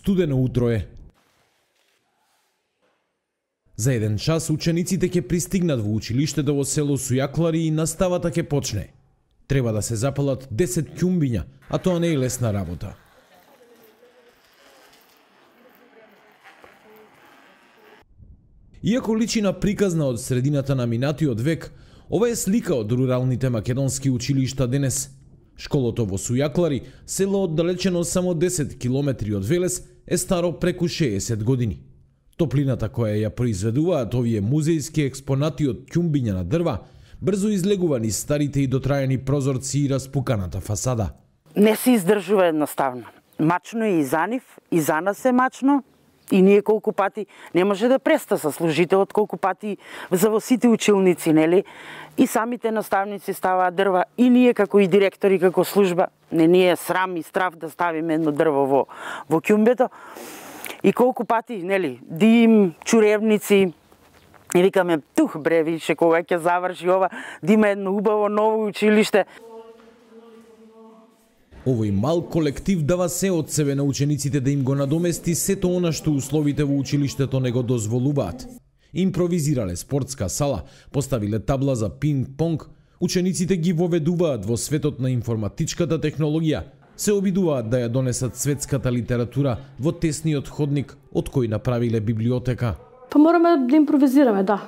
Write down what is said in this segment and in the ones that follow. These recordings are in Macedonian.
Студено утро е. За еден час учениците ќе пристигнат во училиштето во село Сујаклари и наставата ќе почне. Треба да се запалат 10 ќумбиња, а тоа не е лесна работа. Иако личи на приказна од средината на минатиот век, ова е слика од руралните македонски училишта денес. Школото во Сујаклари, село оддалечено само 10 километри од Велес, е старо преку 60 години. Топлината која ја произведуваат овие музејски експонати од ќумбиња на дрва, брзо излегува низ старите и дотраени прозорци и распуканата фасада. Не се издржува едноставно. Мачно е и за нив, и за нас е мачно. И ние колку пати не може да преста со служителот, колку пати за во сите училници, нели? И самите наставници ставаат дрва, и ние како и директори, како служба, не ни е срам и страф да ставиме едно дрво во ќумбето. И колку пати, нели, дим, чуревници, и викаме, тух бре, више, кога ќе заврши ова, да има едно убаво ново училиште. Овој мал колектив дава се од себе на учениците да им го надомести сето она што условите во училиштето не го дозволуваат. Импровизирале спортска сала, поставиле табла за пинг-понг, учениците ги воведуваат во светот на информатичката технологија, се обидуваат да ја донесат светската литература во тесниот ходник од кој направиле библиотека. Па мораме да импровизираме, да.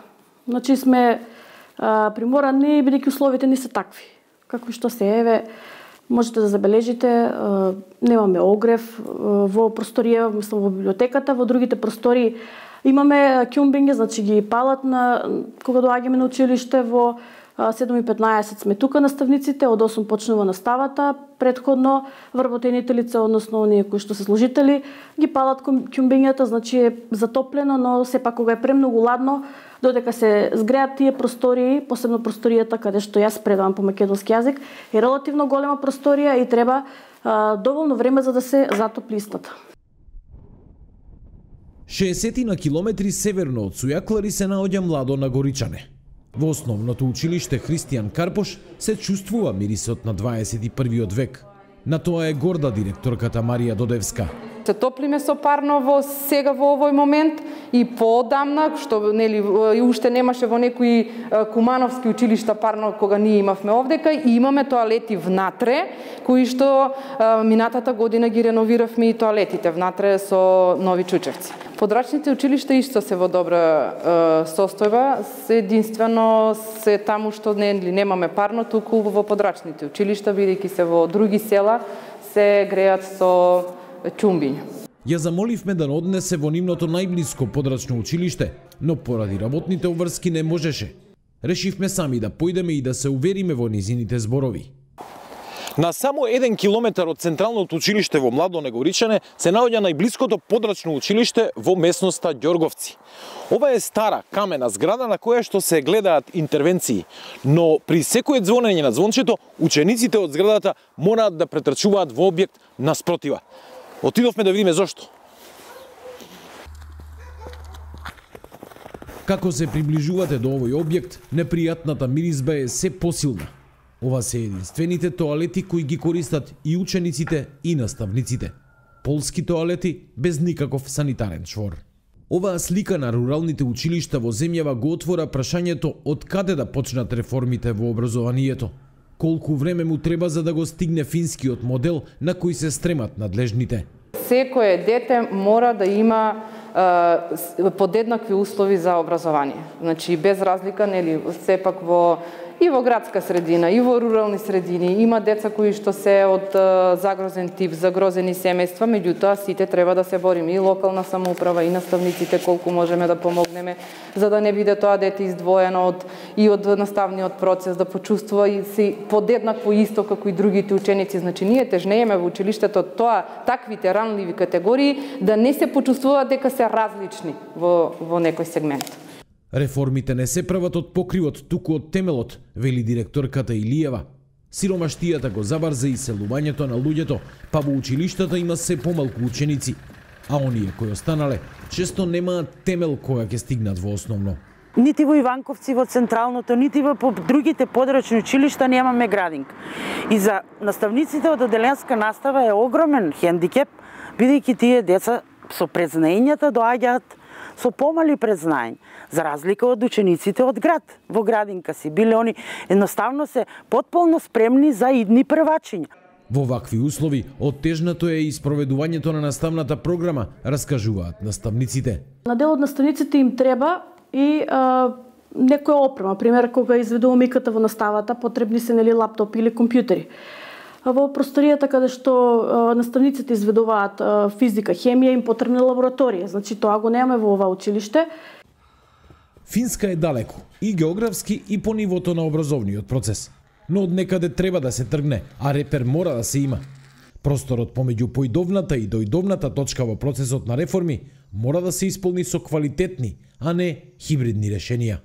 Значи сме приморани, бидејќи условите не се такви. Како што се еве, можете да забележите, немаме огрев во просторија, мислам во библиотеката, во другите простори имаме ќумбиња, значи ги палат кога доаѓаме на училиште во 7:15 сме тука наставниците, од 8 почнува наставата, предходно вработените лица, односно оние кои што се служители, ги палат ќумбињата, значи е затоплено, но сепак кога е премногу ладно, додека се згреат тие простории, посебно просторијата каде што јас предавам по македонски јазик, е релативно голема просторија и треба доволно време за да се затопли истата. 60 на километри северно од Сујаклари се наоѓа Младо на Горичане. Во основното училиште Христијан Карпош се чувствува мирисот на 21 век. На тоа е горда директорката Марија Додевска. Се топлиме со парно сега во овој момент и поодамна, што нели и уште немаше во некои кумановски училишта парно кога ние имавме овдека, и имаме тоалети внатре, кои што минатата година ги реновиравме и тоалетите внатре со нови чучевци. Подрачните училишта исто се во добра состојба, единствено се таму што немаме парно, туку во подрачните училишта, бидејќи се во други села се греат со ќумбиња. Ја замоливме да однесе во нивното најблиско подрачно училиште, но поради работните обврски не можеше. Решивме сами да појдеме и да се увериме во низините зборови. На само 1 километар од централното училиште во Младо на Горичане се наоѓа најблиското подрачно училиште во местноста Ѓорговци. Ова е стара камена зграда на која што се гледаат интервенции, но при секое звонење на звончето, учениците од зградата мораат да претрчуваат во објект наспротива. Отидовме да видиме зошто. Како се приближувате до овој објект, непријатната миризба е се посилна. Ова се единствените тоалети кои ги користат и учениците и наставниците. Полски тоалети без никаков санитарен чвор. Оваа слика на руралните училишта во земјава го отвора прашањето од каде да почнат реформите во образованието. Колку време му треба за да го стигне финскиот модел на кој се стремат надлежните. Секое дете мора да има подеднакви услови за образование. Значи без разлика, нели, сепак и во градска средина, и во рурални средини има деца кои што се од загрозен тип, загрозени семејства, меѓутоа сите треба да се бориме, и локална самоуправа, и наставниците колку можеме да помогнеме, за да не биде тоа дете издвоено од наставниот процес, да почувствува и се подеднакво исто како и другите ученици. Значи ние тежнееме во училиштето таквите ранливи категории да не се почувствуваат дека се различни во некој сегмент. Реформите не се прават од покривот, туку од темелот, вели директорката Илиева. Сиромаштијата го забарза и селувањето на луѓето, па во училиштата има се помалку ученици, а оние кои останале често немаат темел кога ќе стигнат во основно. Нити во Иванковци, во централното, нити во другите подрачни училишта немаме градинг. И за наставниците од оделенска настава е огромен хендикеп бидејќи тие деца со презнаењата доаѓаат со помали презнаење, за разлика од учениците од град. Во градинка си биле они едноставно се потполно спремни за идни првачиња. Во вакви услови, оттежнато е и спроведувањето на наставната програма, раскажуваат наставниците. На дел од наставниците им треба и некоја опрема, пример кога изведуваме иката во наставата, потребни се лаптоп или компјутери. Во просторијата каде што наставниците изведуваат физика, хемија, им потребна лабораторија, значи тоа го немаме во ова училиште. Финска е далеко, и географски и по нивото на образовниот процес. Но од некаде треба да се тргне, а репер мора да се има. Просторот помеѓу поидовната и доидовната точка во процесот на реформи мора да се исполни со квалитетни, а не хибридни решенија.